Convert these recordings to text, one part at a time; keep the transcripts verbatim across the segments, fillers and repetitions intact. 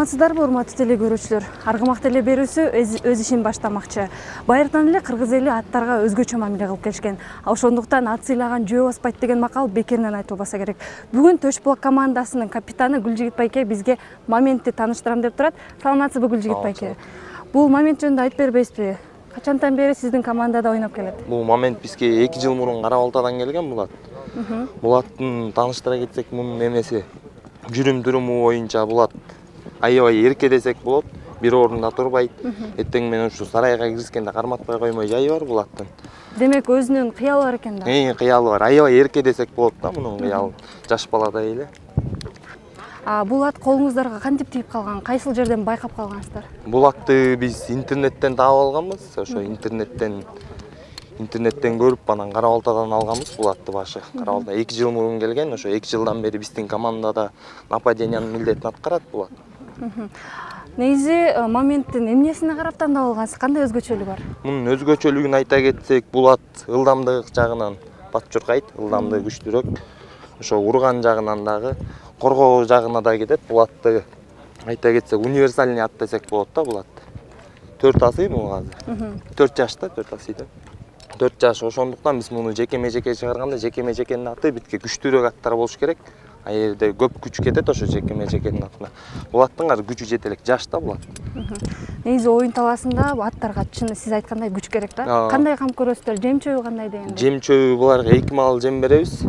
Саламатсыздарбы, урматтуу теле көрүүчүлөр? Аргамак теле берүүсү өз ишин баштамакчы. Байыртан эле кыргыз эли аттарга өзгөчө мамиле кылып келишкен. Ошондуктан ат сыйлаган жөө баспайт деген макал бекеринен айтылбаса керек. Бүгүн Төшбулак командасынын капитаны Гүлжигит байке бизге моментти тааныштырам деп турат. Саламатсызбы, Гүлжигит байке? Бул момент жөнүндө айтып бербейсизби? Качантан бери сиздин командада ойноп келет? Бул момент бизге эки жыл мурун Кара Балтадан келген бул ат. Бул аттын тааныштыра кетсек, мунун эмеси жүрүм туруму боюнча бул ат аябай эрке десек болот, бир орунда турбайт. Эртең менен ушу сарайга киришкенде карматпай коймой жайы бар бул аттын. Демек өзүнүн кыялы бар экен да. Э, кыялы бар. Аябай эрке десек болот да мунун кыялы. Жаш баладай эле. А бул ат колуңуздарга кантип тийип калган? Кайсыл жерден байкап калгансыздар? Бул атты биз интернеттен таап алганбыз. Ошо интернеттен интернеттен көрүп, анан Кара Балтадан алганбыз бул атты башы. Кара Балта эки жыл мурун келген. Ошо эки жылдан бери биздин командада нападениянын милдетин аткарат бул ат. Негизи моменттин эмнесине карап тандап алгансыз? Кандай өзгөчөлүгү бар? Мунун өзгөчөлүгүн айта кетсек, бул ат ылдамдык жагынан бат чуркайт, ылдамдыгы күчтүүрөөк. Ошо урган жагынан дагы, коргоо жагына да кетет. Бул атты айта кетсек, универсальный ат десек болот да бул ат. төрт асый бул азыр. төрт жашта, төрт асыйда. төрт жаш. Ошондуктан биз муну жекеме-жеке чыгарганда, жекеме-жекенин аты битке күчтүүрөөк аттар болуш керек. А жерде көп күч кетет ошо жекеме-жекенин атына. Бул аттын азыр күчү жете элек, жаш да бул ат. Негизи оюн талаасында аттарга чын сиз айткандай күч керек да. Кандай кам көрөсүздөр? Жем чөбү кандай дегенде? Жем чөбү буларга эки маал жем беребиз.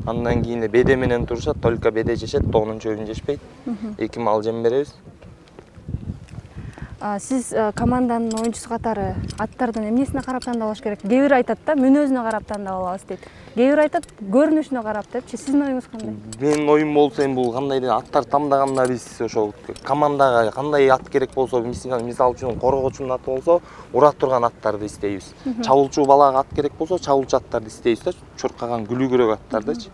Андан кийин беде менен турушат, только беде жешет, тоонун чөбүн жешпейт. эки маал жем беребиз. Сиз команданын оюнчусу катары аттардын эмнесине карап тандап алыш керек? Кээ бир айтат да, мүнөзүнө карап тандап алабыз дейт. Кээ бир айтат, көрүнүшүнө карап депчи. Сиздин оюңуз кандай? Менин оюм болсо эми бул кандай деп аттар тандаганда биз ошол командага кандай ат керек болсо, мисалы үчүн коргоочунун аты болсо, ура турган аттарды издейбиз. Чабуулчу балага ат керек болсо, чабуулчу аттарды издейбиз да, чуркаган, күлүгүрөөк аттардычы.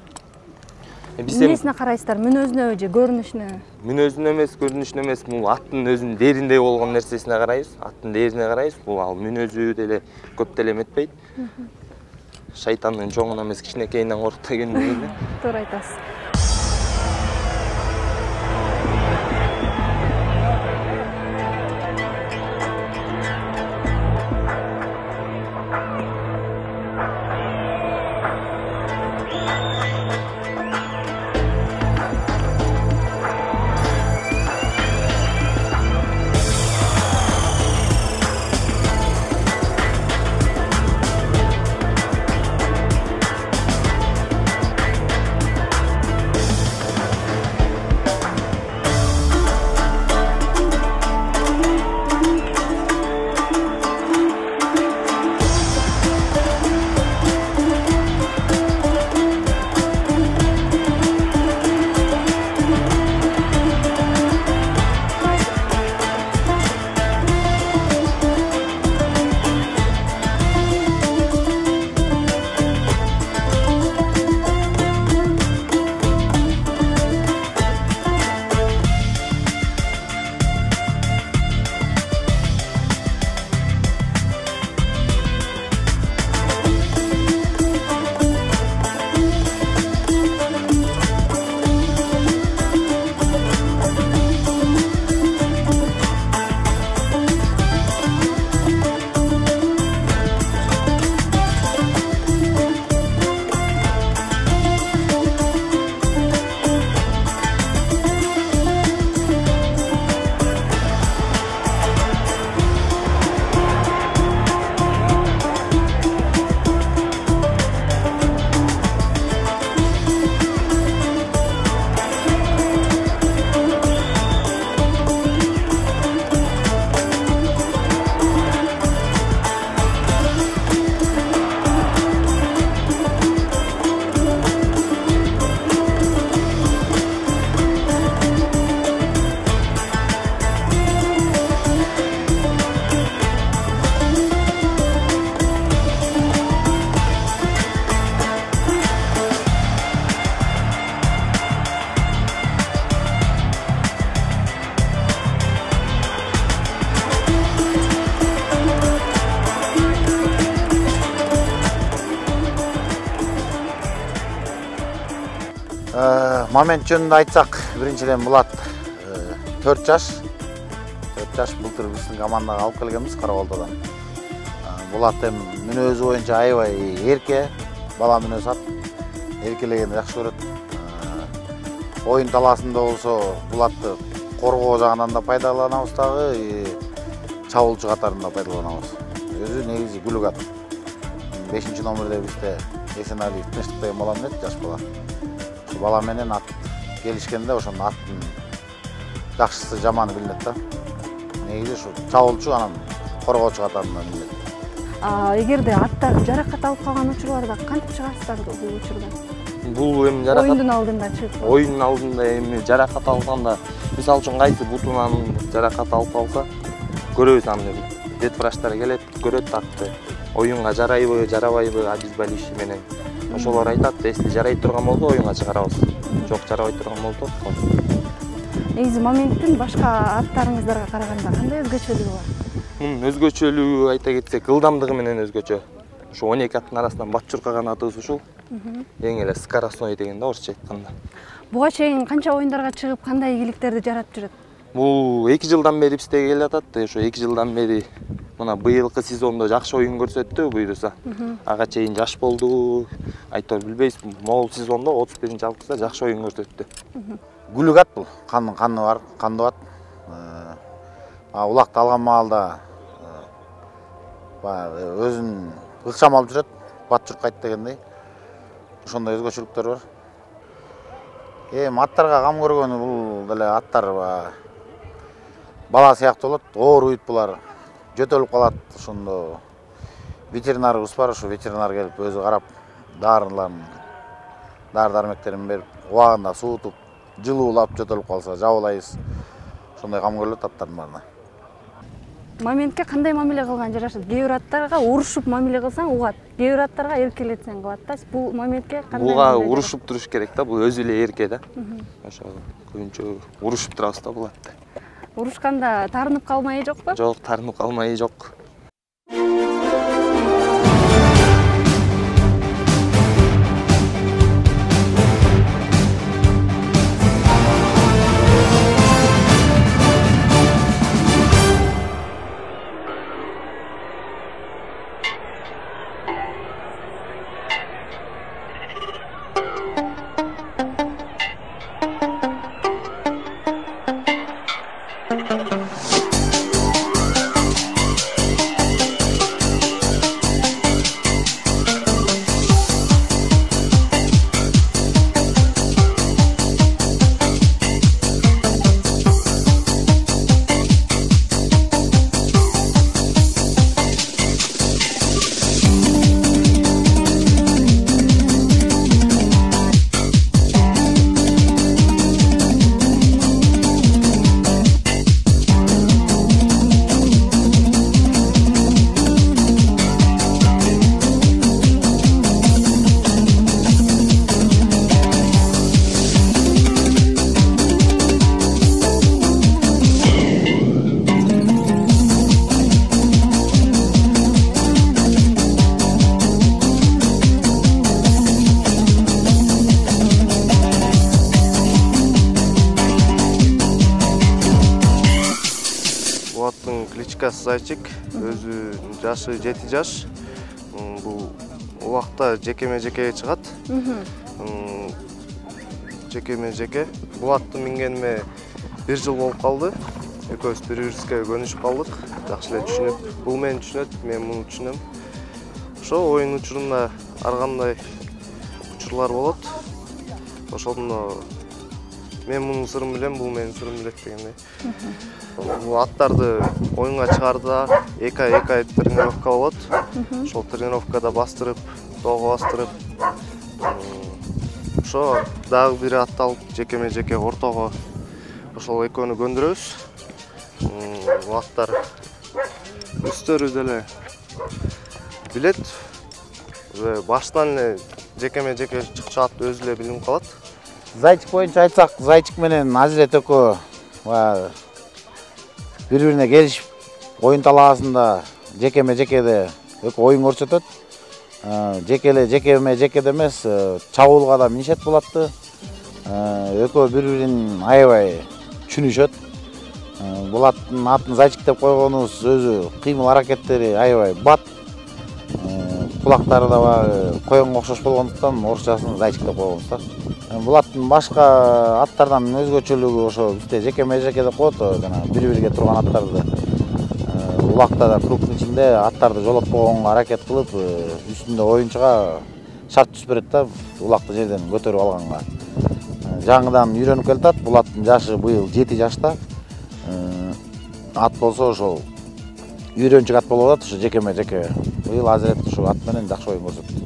Эмнесине карайсыздар? Мүнөзүнө же көрүнүшүнө? Мүнөзүнө эмес, көрүнүшүнө эмес, бул аттын өзүнүн дээриндеги болгон нерсесине карайбыз. Аттын дээрине карайбыз. Бул ал мүнөзү деле көп деле эметпейт. Шайтандын чоңуна эмес, кичинекейинен коркут дегендей эле. Туура айтасыз. Момент жөнүндө айтсак, биринчиден бул ат төрт жаш, жаш былтыр биздин командага алып келгенбиз Карабалтадан. Булат эми мүнөзү боюнча аябай эрке, бала мүнөзү ат, эркелегенди жакшы көрөт. Оюн талаасында болсо Булатты коргоо жагынан да пайдаланабыз дагы, чабуулчу катарында пайдаланабыз. Өзү негизи күлүк ат. бешинчи номерде бизде Эсеналиев Тынчтык деген бала менен жаш бала. Ошо бала менен ат келишкенде ошонун аттын жакшысы жаманы билинет да. Негизи ушу чабуулчу анан коргоочу катарында билинет. Эгерде аттар жаракат алып калган учурларда кантип чыгасыздар бул учурда? Бул эми жаракат оюндун алдында чыгып. Оюндун алдында эми жаракат алганда, мисалы үчүн кайсы бутунан жаракат алып калса, көрөбүз аны. Ветврачтар келет, көрөт атты. Оюнга жарайбы, жарабайбы, обезболивающий менен. Ошолор айтат, если жарай турган болсо оюнга чыгарабыз. Жок, жарабай турган болсо. Негизи моменттин башка аттарыңыздарга караганда кандай өзгөчөлүгү бар? Мунун өзгөчөлүгү айта кетсек, ылдамдыгы менен өзгөчө. Ошо он эки аттын арасынан Батчуркаган атыбыз ушул. Эң эле скоростной деген да орусча айтканда. Буга чейин канча оюндарга чыгып, кандай ийгиликтерди жаратып жүрөт? Бул эки жылдан бери бизде келе жатат. Ошо эки жылдан бери мына быйылкы сезондо жакшы оюн көрсөттү, буйруса. Ага чейин жаш болду. Айтор билбейбиз, могул сезондо отуз биринчи августта жакшы оюн көрсөттү. Күлүк ат бул, каны каны бар, кандуу ат. Улакты алган маалда өзүн ыкчам алып жүрөт, Батчурка айт дегендей. Ошондой өзгөчөлүктөр бар. Эми аттарга кам көргөнү бул деле аттар бала сыяктуу болот, ооруйт булар, жөтөлүп калат. Ошондо ветеринарыбыз бар, ошо ветеринар келип өзү карап, дарыларын, дары-дармектерин берип, убагында суутуп, жылуулап жөтөлүп калса жабылайбыз. Ошондой кам көрүлөт аттардын баарына. Моментке кандай мамиле кылган жарашат? Кээ бир аттарга урушуп мамиле кылсаң угат, кээ бир аттарга эркелетсең кылат да. Бул моментке кандай? Буга урушуп туруш керек да, бул өзү эле эрке да. Ошо көбүнчө урушуп турабыз да бул атты. Урушканда тарынып калмайы жокпу? Жок, тарынып калмайы жок. Кличкасы Зайчик, өзү жашы жети жаш. Бул убакта жекеме жекеге чыгат. Жекеме жеке. Бул атты мингениме бир жыл болуп калды. Экөөбүз бири-бирибизге көнүшүп калдык. Жакшы эле түшүнөт. Бул мени түшүнөт, мен муну түшүнөм. Ошо оюн учурунда ар кандай учурлар болот. Ошондо мен мунун сырын билем, бул менин сырым билет дегендей. Бул аттарды оюнга чыгаарда эки ай эки ай тренировка болот. Ошол тренировкада бастырып, тоого бастырып, ошо дагы бир атты алып жекеме жеке ортого ошол экөөнү көндүрөбүз. Бул аттар үстөрү деле билет. Баштан эле жекеме жеке чыгат өзү эле билинип калат. Зайчик боюнча айтсак, Зайчик менен Азирет экөө бири-бирине келишип, оюн талаасында жекеме жекеде экөө оюн көрсөтөт. Жекеле жекеме жекеде эмес, чабуулга да минишет болотты. Экөө бири-бирин аябай түшүнүшөт. Булаттын атын Зайчик деп койгонубуз өзү кыймыл аракеттери аябай бат. Кулактары да баягы коёнго окшош болгондуктан орусчасын Зайчик деп койгонбуз да. Булаттын башка аттардан өзгөчөлүгү ошо бизде жеке межеке деп коет, жана бири-бирге турган аттарды улакта да кругтун ичинде аттарды жолотпогонго аракет кылып, үстүндө оюнчуга шарт түзүп берет да, улакты жерден көтөрүп алганга. Жаңыдан үйрөнүп келатат. Булаттын жашы быйыл жети жашта. Ат болсо ошол үйрөнчүк ат болуп атат, ошо жекеме жеке. Быйыл азыр ушул ат менен жакшы оюн көрсөттү.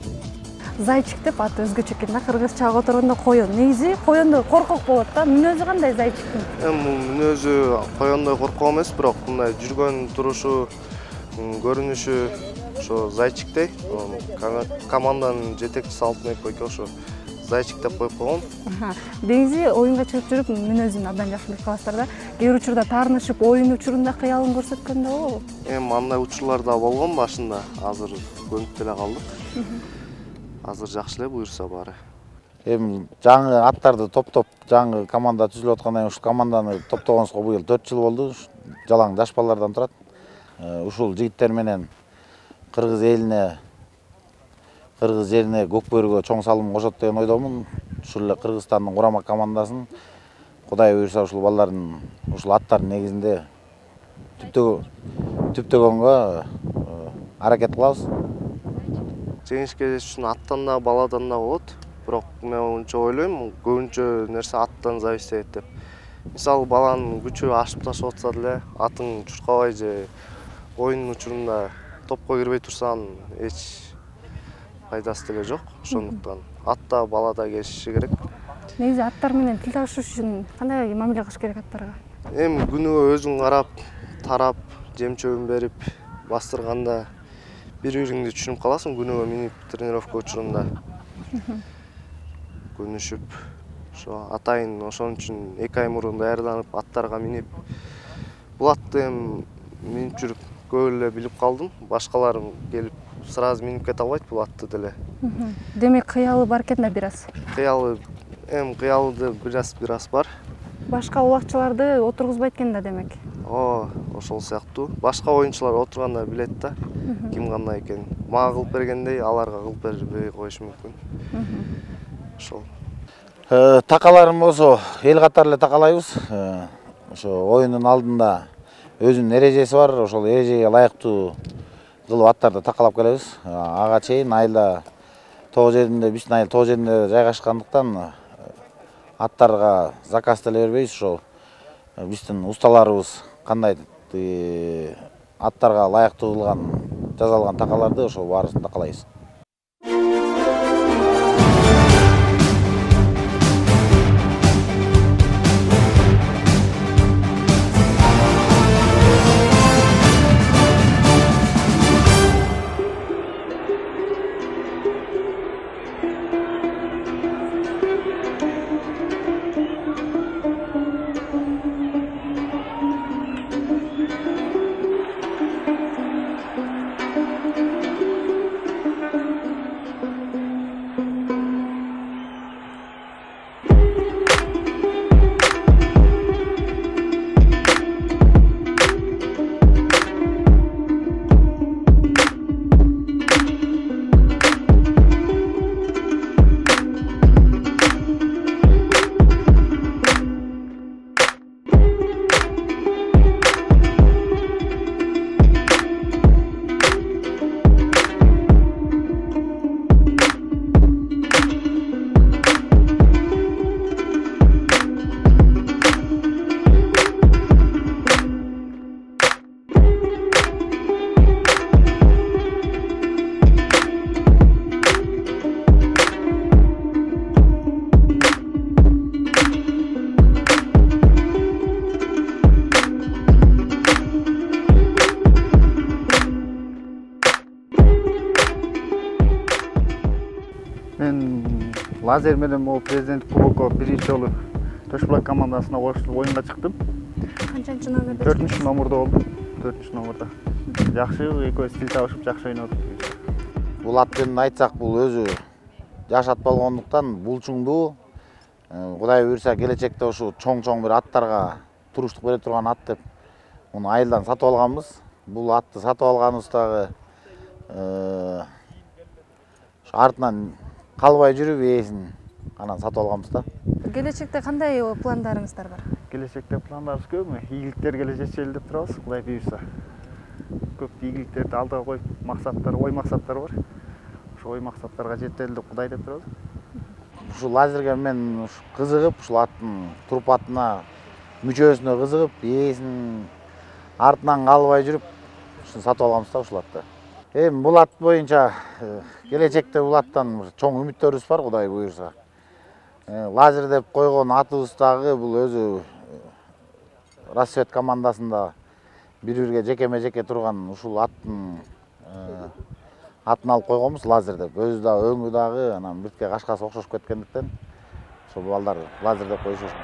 Зайчик деп аты өзгөчө экен да, кыргызчага которгондо коён. Негизи коёндо коркок болот да. Мүнөзү кандай Зайчиктин? Эми мүнөзү коёндой коркок эмес, бирок мындай жүргөн турушу, көрүнүшү ошо Зайчиктей. Команданын жетекчиси Алтынбек байке ошо Зайчик деп коюп койгон. Негизи оюнга чыгып жүрүп мүнөзүн абдан жакшы билип каласыздар да. Кээ бир учурда таарынышып, оюн учурунда кыялын көрсөткөн да болобу? Эми андай учурлар да болгон башында, азыр көнүп деле калдык. Азыр жакшы эле буюрса баары. Эми жаңы аттарды топтоп, жаңы команда түзүлүп аткандан кийин ушул команданы топтогонубузга быйыл төрт жыл болду. Жалаң жаш балдардан турат. Ушул жигиттер менен кыргыз элине, кыргыз жерине, көк бөрүгө чоң салым кошот деген ойдомун. Ушул эле Кыргызстандын курама командасын Кудай буйрса ушул балдардын, ушул аттардын негизинде түптөгөнгө аракет кылабыз. Жеңишке жетиш үчүн аттан да, баладан да болот. Бирок мен ончо ойлойм, көбүнчө нерсе аттан зависит этет деп. Мисалы баланын күчү ашып ташып атса деле, атың чуркабай же оюн учурунда топко кирбей турсаң, эч пайдасы деле жок. Ошондуктан атта, балада келишиши керек. Негизи аттар менен тил табышыш үчүн кандай мамиле кылыш керек аттарга? Эми күнүгө өзүң карап, тарап, жем чөбүн берип, бастырганда бири-бириңди түшүнүп каласың күнүгө минип тренировка учурунда. Көнүшүп, ошо атайын ошон үчүн эки ай мурун даярданып, аттарга минип, булатты эми минип жүрүп көп эле билип калдым. Башкалар келип сразу минип кете албайт булатты деле. Демек кыялы бар экен да бир аз. Кыялы, эми кыялы бир аз бир аз бар. Башка улакчыларды отургузбайт экен да демек. О, ошол сыяктуу. Башка оюнчулар отурганда билет да, ким кандай экенин. Мага кылып бергендей, аларга кылып бербей коюшу мүмкүн. Ошол. Такаларым болсо эл катары эле такалайбыз. Ошо оюндун алдында өзүнүн эрежеси бар, ошол эрежеге ылайыктуу кылып аттарды такалап келебиз. Ага чейин айылда тоо жеринде, биздин айыл тоо жеринде жайгашкандыктан аттарга заказ деле бербейбиз. Ошол биздин усталарыбыз кандай аттарга ылайыктуу кылган, жасалган такаларды ошол баарысын такалайбыз. Мен лазер менен могу президент кубокко биринчи жолу Төшбулак командасына коштуп оюнга чыктым. Канчанчы номерде? төртүнчү номерде болдум. төртүнчү номерде. Жакшы экөөбүз тил табышып жакшы ойнодук. Бул ат жөнүндө айтсак, бул өзү жаш ат болгондуктан булчуңдуу. Кудай буйрса келечекте ушу чоң-чоң бир аттарга туруштук бере турган ат деп муну айылдан сатып алганбыз. Бул атты сатып алганыбыздагы артынан калбай жүрүп ээсин анан сатып алганбыз да. Келечекте кандай пландарыңыздар бар? Келечекте пландарыбыз көп. Ийгиликтерге жетели деп турабыз, Кудай буйрса. Көп ийгиликтерди алдыга коюп, максаттар, ой максаттар бар. Ошо ой максаттарга жетели деп Кудай деп турабыз. Ушул лазерге мен кызыгып, ушул аттын турпатына, мүчөсүнө кызыгып, ээсин артынан калбай жүрүп, ушуну сатып алганбыз да ушул атты. Эми бул ат боюнча келечекте бул аттан чоң үмүттөрүбүз бар, Кудай буйрса. Лазер деп койгон атыбыз дагы бул өзү Рассвет командасында бири-бирге жекеме-жеке турган ушул аттын атын алып койгонбуз Лазер деп. Өзү да өңү дагы анан биртке кашкасы окшошуп кеткендиктен ошол балдар Лазер деп коюшат.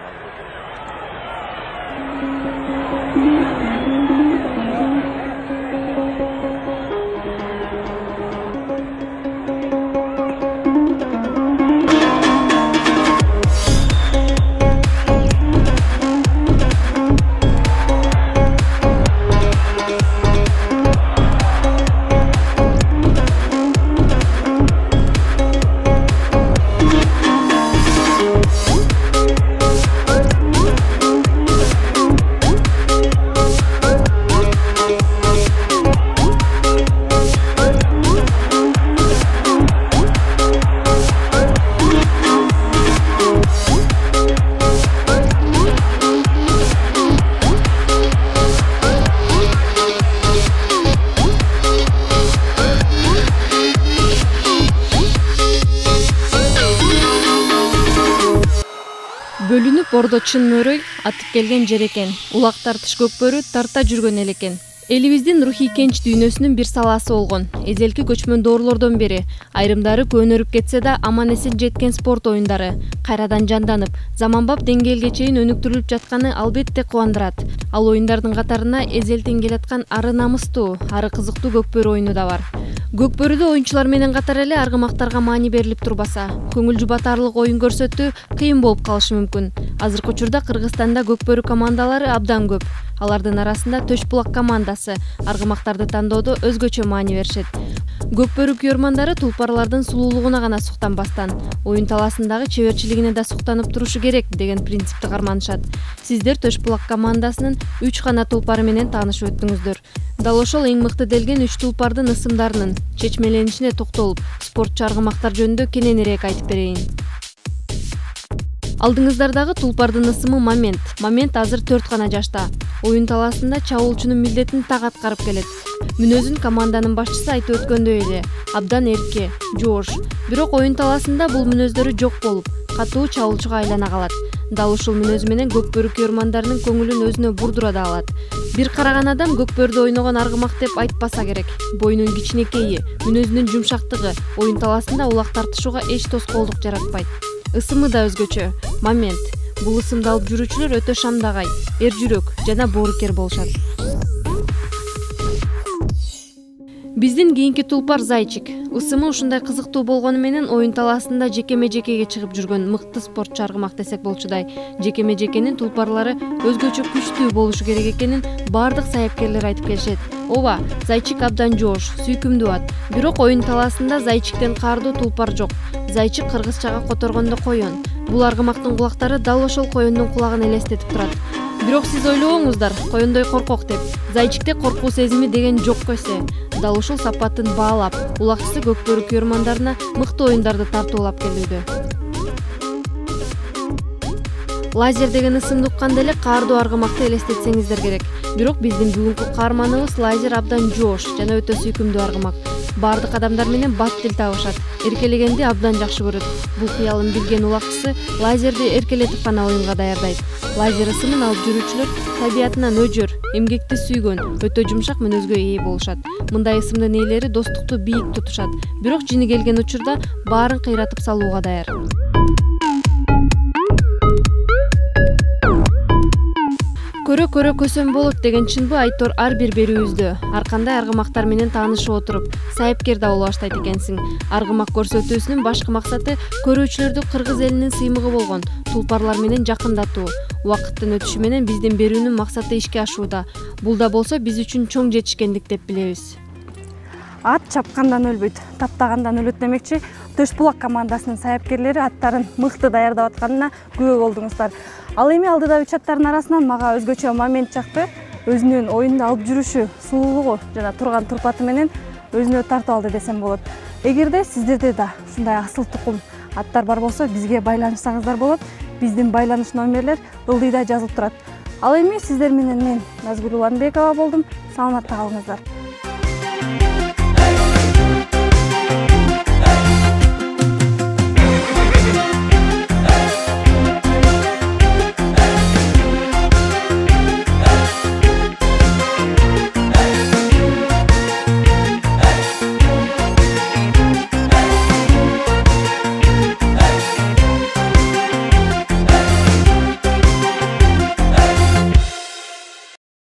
Бөлүнүп ордо чын мөрөй атып келген жер экен. Улак тартыш көкбөрү тарта жүргөн эл экен. Элибиздин рухий кенч дүйнөсүнүн бир саласы болгон. Эзелки көчмөн доорлордон бери айрымдары көнөрүп кетсе да аман эсен жеткен спорт оюндары кайрадан жанданып, заманбап деңгээлге чейин өнүктүрүлүп жатканы албетте кубандырат. Ал оюндардын катарына эзелтен келаткан ары намыстуу, ары кызыктуу көкбөрү оюну да бар. Көкбөрүдө оюнчулар менен катар эле аргымактарга маани берилип турбаса, көңүл жубатарлык оюн көрсөтүү кыйын болуп калышы мүмкүн. Азыркы учурда Кыргызстанда көкбөрү командалары абдан көп. Алардын арасында Төш булак командасы аргымактарды тандоодо өзгөчө маани беришет. Көкбөрү күйөрмандары тулпарлардын сулуулугуна гана суктанбастан, оюн таласындагы чеберчилигине да суктанып турушу керек деген принципти карманышат. Сиздер Төш булак командасынын үч гана тулпары менен таанышып өттүңүздөр. Дал ошол эң мыкты делген үч тулпардын ысымдарынын чечмеленишине токтолуп, спортчу аргымактар жөнүндө кененирээк айтып берейин. Алдыңыздардагы тулпардын ысымы Момент. Момент азыр төрт гана жашта. Оюн таласында чабуулчунун милдетин так аткарып келет. Мүнөзүн команданын башчысы айтып өткөндөй эле, абдан эрке, жоош. Бирок оюн таласында бул мүнөздөрү жок болуп, катуу чабуулчуга айлана калат. Дал ушул мүнөзү менен көкбөрү күйөрмандарынын көңүлүн өзүнө бурдура да алат. Бир караган адам көкбөрдө ойногон аргымак деп айтпаса керек. Боюнун кичинекейи, мүнөзүнүн жумшактыгы оюн таласында улак тартышууга эч тоскоолдук жаратпайт. Ысымы да өзгөчө. Момент. Бул ысымды алып жүрүүчүлөр өтө шамдагай, эр жүрөк жана боорукер болушат. Биздин кийинки тулпар Зайчик. Ысымы ушундай кызыктуу болгону менен оюн таласында жекеме-жекеге чыгып жүргөн мыкты спортчу аргымак десек болчудай. Жекеме-жекенин тулпарлары өзгөчө күчтүү болушу керек экенин бардык саяпкерлер айтып келишет. Ооба, Зайчик абдан жоош, сүйкүмдүү ат. Бирок оюн таласында Зайчиктен каардуу тулпар жок. Зайчик кыргызчага которгондо коён. Бул аргымактын кулактары дал ошол коёндун кулагын элестетип турат. Бирок сиз ойлобоңуздар, коёндой коркок деп. Зайчикте коркуу сезими деген жокко эсе. Дал ушул сапатын баалап, улакчысы көкбөрү күйөрмандарына мыкты оюндарды тартуулап келүүдө. Лазер деген ысымды укканда эле каардуу аргымакты элестетсеңиздер керек. Бирок биздин бүгүнкү каарманыбыз Лазер абдан жоош жана өтө сүйкүмдүү аргымак. Бардык адамдар менен бат тил табышат. Эркелегенди абдан жакшы көрөт. Бул кыялын билген улакчысы Лазерди эркелетип гана оюнга даярдайт. Лазер ысымын алып жүрүүчүлөр табиятынан өжөр, эмгекти сүйгөн, өтө жумшак мүнөзгө ээ болушат. Мындай ысымдын ээлери достукту бийик тутушат. Бирок жини келген учурда баарын кыйратып салууга даяр. Көрө-көрө көсөм болот деген чынбы Айтор ар бир берүүбүздө. Ар кандай аргымактар менен таанышып отуруп, сайыпкер да боло баштайт экенсиң. Аргымак көрсөтүүсүнүн башкы максаты көрүүчүлөрдү кыргыз элинин сыймыгы болгон тулпарлар менен жакындатуу. Убакыттын өтүшү менен биздин берүүнүн максаты ишке ашууда. Бул да болсо биз үчүн чоң жетишкендик деп билебиз. Ат чапкандан өлбөйт, таптагандан өлөт демекчи, Төш булак командасынын саяпкерлери аттарын мыкты даярдап атканына күбө болдуңуздар. Ал эми алдыдагы үч аттардын арасынан мага өзгөчө момент чыкты. Өзүнүн оюнда алып жүрүшү, сулуулугу жана турган турпаты менен өзүнө тартып алды десем болот. Эгерде сиздерде да ушундай асыл тукум аттар бар болсо, бизге байланышсаңыздар болот. Биздин байланыш номерлер ылдыйда жазылып турат. Ал эми сиздер менен мен Назгүл Уланбекова болдум. Саламатта калыңыздар.